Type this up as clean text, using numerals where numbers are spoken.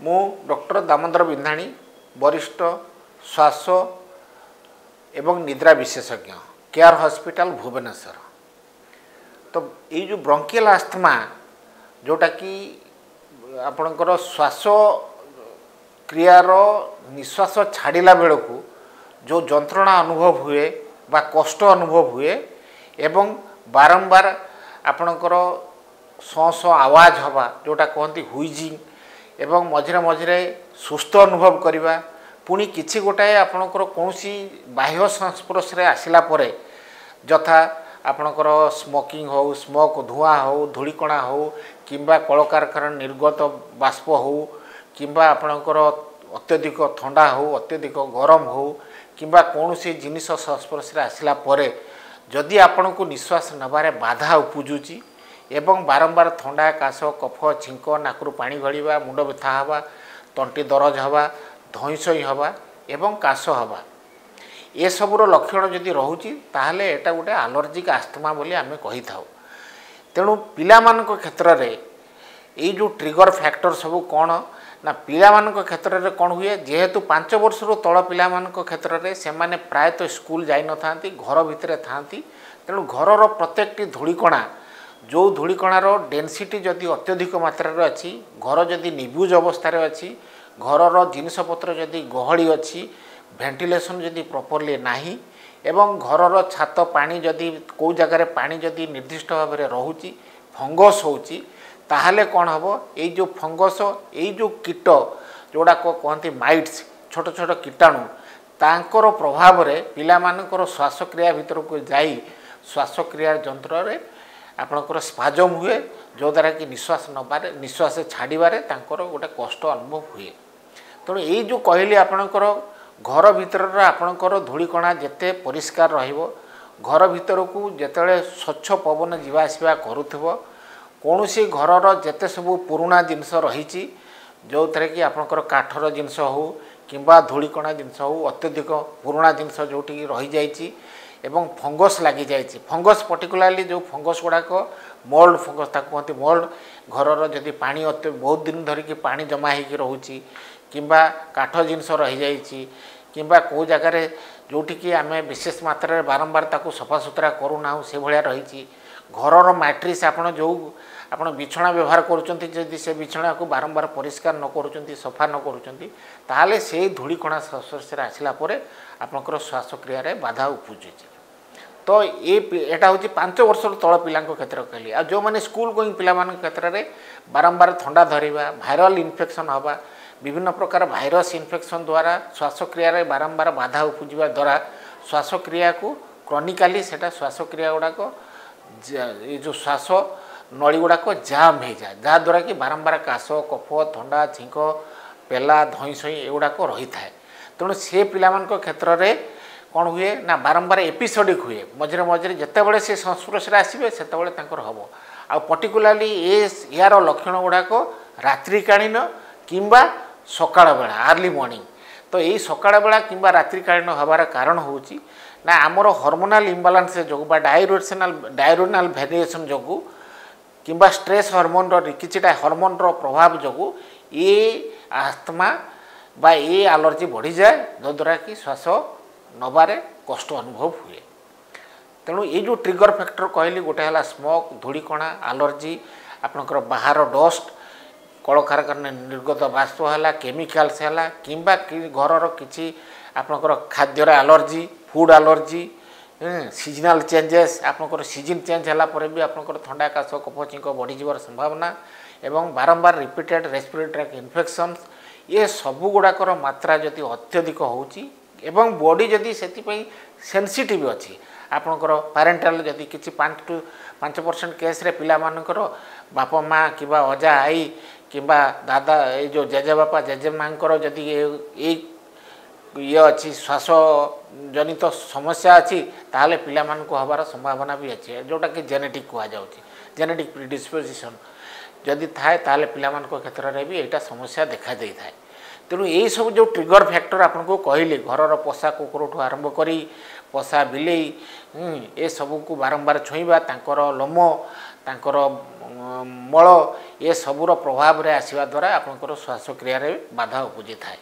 ମୁଁ ଡକ୍ଟର ଦାମୋଦର ବିନ୍ଧାଣୀ, ବରିଷ୍ଠ ଶ୍ୱାସ ଏବଂ ନିଦ୍ରା ବିଶେଷଜ୍ଞ, କେୟାର ହସ୍ପିଟାଲ, ଭୁବନେଶ୍ୱର। ତ ଏଇ ଯେଉଁ ବ୍ରଙ୍କିଆଲ ଆସ୍ଥମା, ଯେଉଁଟାକି ଆପଣଙ୍କର ଶ୍ୱାସ କ୍ରିୟାର ନିଶ୍ୱାସ ଛାଡ଼ିଲା ବେଳକୁ ଯେଉଁ ଯନ୍ତ୍ରଣା ଅନୁଭବ ହୁଏ ବା କଷ୍ଟ ଅନୁଭବ ହୁଏ ଏବଂ ବାରମ୍ବାର ଆପଣଙ୍କର ସଁ ସଁ ଆୱାଜ ହେବା, ଯେଉଁଟା କୁହନ୍ତି ହୁଇଜିଂ, ଏବଂ ମଝିରେ ମଝିରେ ସୁସ୍ଥ ଅନୁଭବ କରିବା, ପୁଣି କିଛି ଗୋଟାଏ ଆପଣଙ୍କର କୌଣସି ବାହ୍ୟ ସଂସ୍ପର୍ଶରେ ଆସିଲା ପରେ, ଯଥା ଆପଣଙ୍କର ସ୍ମୋକିଂ ହେଉ, ସ୍ମୋକ୍ ଧୂଆଁ ହେଉ, ଧୂଳିକଣା ହେଉ, କିମ୍ବା କଳକାରଖାନା ନିର୍ଗତ ବାଷ୍ପ ହେଉ, କିମ୍ବା ଆପଣଙ୍କର ଅତ୍ୟଧିକ ଥଣ୍ଡା ହେଉ, ଅତ୍ୟଧିକ ଗରମ ହେଉ, କିମ୍ବା କୌଣସି ଜିନିଷ ସଂସ୍ପର୍ଶରେ ଆସିଲା ପରେ ଯଦି ଆପଣଙ୍କୁ ନିଶ୍ୱାସ ନେବାରେ ବାଧା ଉପୁଜୁଛି ଏବଂ ବାରମ୍ବାର ଥଣ୍ଡା, କାଶ, କଫ, ଛିଙ୍କ, ନାକରୁ ପାଣି ଗଳିବା, ମୁଣ୍ଡ ବ୍ୟଥା ହେବା, ତଣ୍ଟି ଦରଜ ହେବା, ଧଇଁସଇଁ ହେବା ଏବଂ କାଶ ହେବା, ଏସବୁର ଲକ୍ଷଣ ଯଦି ରହୁଛି, ତାହେଲେ ଏଇଟା ଗୋଟେ ଆଲର୍ଜିକ୍ ଆସ୍ଥମା ବୋଲି ଆମେ କହିଥାଉ। ତେଣୁ ପିଲାମାନଙ୍କ କ୍ଷେତ୍ରରେ ଏଇ ଯେଉଁ ଟ୍ରିଗର ଫ୍ୟାକ୍ଟର ସବୁ କ'ଣ ନା, ପିଲାମାନଙ୍କ କ୍ଷେତ୍ରରେ କ'ଣ ହୁଏ, ଯେହେତୁ 5 ବର୍ଷରୁ ତଳ ପିଲାମାନଙ୍କ କ୍ଷେତ୍ରରେ ସେମାନେ ପ୍ରାୟତଃ ସ୍କୁଲ ଯାଇନଥାନ୍ତି, ଘର ଭିତରେ ଥାଆନ୍ତି। ତେଣୁ ଘରର ପ୍ରତ୍ୟେକଟି ଧୂଳିକଣା, ଯେଉଁ ଧୂଳିକଣାର ଡେନ୍ସିଟି ଯଦି ଅତ୍ୟଧିକ ମାତ୍ରାରେ ଅଛି, ଘର ଯଦି ନିବୁଜ ଅବସ୍ଥାରେ ଅଛି, ଘରର ଜିନିଷପତ୍ର ଯଦି ଗହଳି ଅଛି, ଭେଣ୍ଟିଲେସନ୍ ଯଦି ପ୍ରପରଲି ନାହିଁ ଏବଂ ଘରର ଛାତ ପାଣି ଯଦି କେଉଁ ଜାଗାରେ ପାଣି ଯଦି ନିର୍ଦ୍ଦିଷ୍ଟ ଭାବରେ ରହୁଛି, ଫଙ୍ଗସ୍ ହେଉଛି, ତାହେଲେ କ'ଣ ହେବ? ଏଇ ଯେଉଁ ଫଙ୍ଗସ୍, ଏଇ ଯେଉଁ କୀଟ ଯେଉଁଗୁଡ଼ାକ କୁହନ୍ତି ମାଇଟ୍ସ, ଛୋଟ ଛୋଟ କୀଟାଣୁ, ତାଙ୍କର ପ୍ରଭାବରେ ପିଲାମାନଙ୍କର ଶ୍ୱାସକ୍ରିୟା ଭିତରକୁ ଯାଇ ଶ୍ୱାସକ୍ରିୟା ଯନ୍ତ୍ରରେ ଆପଣଙ୍କର ସ୍ପାଜମ୍ ହୁଏ, ଯଦ୍ୱାରା କି ନିଶ୍ୱାସ ନେବାରେ, ନିଶ୍ୱାସ ଛାଡ଼ିବାରେ ତାଙ୍କର ଗୋଟେ କଷ୍ଟ ଅନୁଭବ ହୁଏ। ତେଣୁ ଏଇ ଯେଉଁ କହିଲି, ଆପଣଙ୍କର ଘର ଭିତରର ଆପଣଙ୍କର ଧୂଳିକଣା ଯେତେ ପରିଷ୍କାର ରହିବ, ଘର ଭିତରକୁ ଯେତେବେଳେ ସ୍ୱଚ୍ଛ ପବନ ଯିବା ଆସିବା କରୁଥିବ, କୌଣସି ଘରର ଯେତେ ସବୁ ପୁରୁଣା ଜିନିଷ ରହିଛି, ଯେଉଁଥିରେ କି ଆପଣଙ୍କର କାଠର ଜିନିଷ ହେଉ କିମ୍ବା ଧୂଳିକଣା ଜିନିଷ ହେଉ, ଅତ୍ୟଧିକ ପୁରୁଣା ଜିନିଷ ଯେଉଁଠିକି ରହିଯାଇଛି ଏବଂ ଫଙ୍ଗସ୍ ଲାଗିଯାଇଛି, ଫଙ୍ଗସ୍ ପର୍ଟିକୁଲାରଲି ଯେଉଁ ଫଙ୍ଗସ୍ ଗୁଡ଼ାକ ମୋଲ୍ଡ ଫଙ୍ଗସ୍, ତାକୁ କୁହନ୍ତି ମୋଲ୍ଡ। ଘରର ଯଦି ପାଣି ବହୁତ ଦିନ ଧରିକି ପାଣି ଜମା ହେଇକି ରହୁଛି କିମ୍ବା କାଠ ଜିନିଷ ରହିଯାଇଛି କିମ୍ବା କେଉଁ ଜାଗାରେ ଯେଉଁଠିକି ଆମେ ବିଶେଷ ମାତ୍ରାରେ ବାରମ୍ବାର ତାକୁ ସଫାସୁତୁରା କରୁନାହୁଁ, ସେଭଳିଆ ରହିଛି, ଘରର ମ୍ୟାଟ୍ରିସ୍, ଆପଣ ଯେଉଁ ଆପଣ ବିଛଣା ବ୍ୟବହାର କରୁଛନ୍ତି, ଯଦି ସେ ବିଛଣାକୁ ବାରମ୍ବାର ପରିଷ୍କାର ନ କରୁଛନ୍ତି, ସଫା ନ କରୁଛନ୍ତି, ତାହେଲେ ସେଇ ଧୂଳିକଣା ସଂସ୍ପର୍ଶରେ ଆସିଲା ପରେ ଆପଣଙ୍କର ଶ୍ୱାସକ୍ରିୟାରେ ବାଧା ଉପୁଜୁଛି। ତ ଏଇଟା ହେଉଛି 5 ବର୍ଷରୁ ତଳ ପିଲାଙ୍କ କ୍ଷେତ୍ରରେ କହିଲି। ଆଉ ଯେଉଁମାନେ ସ୍କୁଲ ଗୋଇଂ ପିଲାମାନଙ୍କ କ୍ଷେତ୍ରରେ ବାରମ୍ବାର ଥଣ୍ଡା ଧରିବା, ଭାଇରାଲ ଇନଫେକ୍ସନ୍ ହେବା, ବିଭିନ୍ନ ପ୍ରକାର ଭାଇରସ୍ ଇନଫେକ୍ସନ୍ ଦ୍ୱାରା ଶ୍ୱାସକ୍ରିୟାରେ ବାରମ୍ବାର ବାଧା ଉପୁଜିବା ଦ୍ୱାରା ଶ୍ୱାସକ୍ରିୟାକୁ କ୍ରନିକାଲି ସେଇଟା ଶ୍ୱାସକ୍ରିୟା ଗୁଡ଼ାକ, ଏ ଯେଉଁ ଶ୍ୱାସ ନଳୀ ଗୁଡ଼ାକ ଜାମ୍ ହେଇଯାଏ, ଯାହାଦ୍ୱାରା କି ବାରମ୍ବାର କାଶ, କଫ, ଥଣ୍ଡା, ଛିଙ୍କ, ପେଲା, ଧଇଁସଇଁ ଏଗୁଡ଼ାକ ରହିଥାଏ। ତେଣୁ ସେ ପିଲାମାନଙ୍କ କ୍ଷେତ୍ରରେ କ'ଣ ହୁଏ ନା, ବାରମ୍ବାର ଏପିସୋଡ଼ିକ୍ ହୁଏ। ମଝିରେ ମଝିରେ ଯେତେବେଳେ ସେ ସଂସ୍ପର୍ଶରେ ଆସିବେ, ସେତେବେଳେ ତାଙ୍କର ହେବ। ଆଉ ପର୍ଟିକୁଲାରଲି ଏହାର ଲକ୍ଷଣ ଗୁଡ଼ାକ ରାତ୍ରିକାଳୀନ କିମ୍ବା ସକାଳ ବେଳା, ଆର୍ଲି ମର୍ଣ୍ଣିଂ। ତ ଏଇ ସକାଳ ବେଳା କିମ୍ବା ରାତ୍ରିକାଳୀନ ହେବାର କାରଣ ହେଉଛି ନା, ଆମର ହର୍ମୋନାଲ୍ ଇମ୍ବାଲାନ୍ସ ଯୋଗୁଁ ବା ଡାଇରୋନାଲ୍ ଭେରିଏସନ୍ ଯୋଗୁଁ କିମ୍ବା ଷ୍ଟ୍ରେସ୍ ହର୍ମୋନ୍ର, କିଛିଟା ହର୍ମୋନ୍ର ପ୍ରଭାବ ଯୋଗୁଁ ଏ ଆସ୍ଥମା ବା ଏ ଆଲର୍ଜି ବଢ଼ିଯାଏ, ଯଦ୍ୱାରା କି ଶ୍ୱାସ ନେବାରେ କଷ୍ଟ ଅନୁଭବ ହୁଏ। ତେଣୁ ଏଇ ଯେଉଁ ଟ୍ରିଗର ଫ୍ୟାକ୍ଟର କହିଲି, ଗୋଟେ ହେଲା ସ୍ମୋକ୍, ଧୂଳିକଣା, ଆଲର୍ଜି, ଆପଣଙ୍କର ବାହାର ଡଷ୍ଟ, କଳକାରଖାନା ନିର୍ଗତ ବାଷ୍ପ ହେଲା, କେମିକାଲ୍ସ ହେଲା, କିମ୍ବା ଘରର କିଛି ଆପଣଙ୍କର ଖାଦ୍ୟର allergy, food allergy, seasonal changes, ଆପଣଙ୍କର ସିଜିନ୍ ଚେଞ୍ଜ ହେଲା ପରେ ବି ଆପଣଙ୍କର ଥଣ୍ଡା, କାଶ, କଫ, ଛିଙ୍କ ବଢ଼ିଯିବାର ସମ୍ଭାବନା ଏବଂ ବାରମ୍ବାର ରିପିଟେଡ଼ ରେସ୍ପିରେଟରୀ ଟ୍ରାକ୍ଟ ଇନଫେକ୍ସନ୍ସ, ଏ ସବୁ ଗୁଡ଼ାକର ମାତ୍ରା ଯଦି ଅତ୍ୟଧିକ ହେଉଛି ଏବଂ ବଡ଼ି ଯଦି ସେଥିପାଇଁ ସେନ୍ସିଟିଭ୍ ଅଛି, ଆପଣଙ୍କର ପ୍ୟାରେଣ୍ଟାଲ ଯଦି କିଛି 5 ଟୁ 5% କେସ୍ରେ ପିଲାମାନଙ୍କର ବାପା ମା କିମ୍ବା ଅଜା ଆଈ କିମ୍ବା ଦାଦା, ଏଇ ଯେଉଁ ଜେଜେବାପା ଜେଜେମାଙ୍କର ଯଦି ଏଇ ଇଏ ଅଛି, ଶ୍ୱାସ ଜନିତ ସମସ୍ୟା ଅଛି, ତାହେଲେ ପିଲାମାନଙ୍କୁ ହେବାର ସମ୍ଭାବନା ବି ଅଛି, ଯେଉଁଟାକି ଜେନେଟିକ୍ କୁହାଯାଉଛି। ଜେନେଟିକ୍ ପ୍ରିଡିସ୍ପୋଜିସନ୍ ଯଦି ଥାଏ, ତାହେଲେ ପିଲାମାନଙ୍କ କ୍ଷେତ୍ରରେ ବି ଏଇଟା ସମସ୍ୟା ଦେଖାଦେଇଥାଏ। ତେଣୁ ଏଇସବୁ ଯେଉଁ ଟ୍ରିଗର ଫ୍ୟାକ୍ଟର ଆପଣଙ୍କୁ କହିଲି, ଘରର ପୋଷା କୁକୁରଠୁ ଆରମ୍ଭ କରି ପୋଷା ବିଲେଇ, ଏସବୁକୁ ବାରମ୍ବାର ଛୁଇଁବା, ତାଙ୍କର ଲୋମ, ତାଙ୍କର ମଳ, ଏସବୁର ପ୍ରଭାବରେ ଆସିବା ଦ୍ୱାରା ଆପଣଙ୍କର ଶ୍ୱାସକ୍ରିୟାରେ ବାଧା ଉପୁଜିଥାଏ।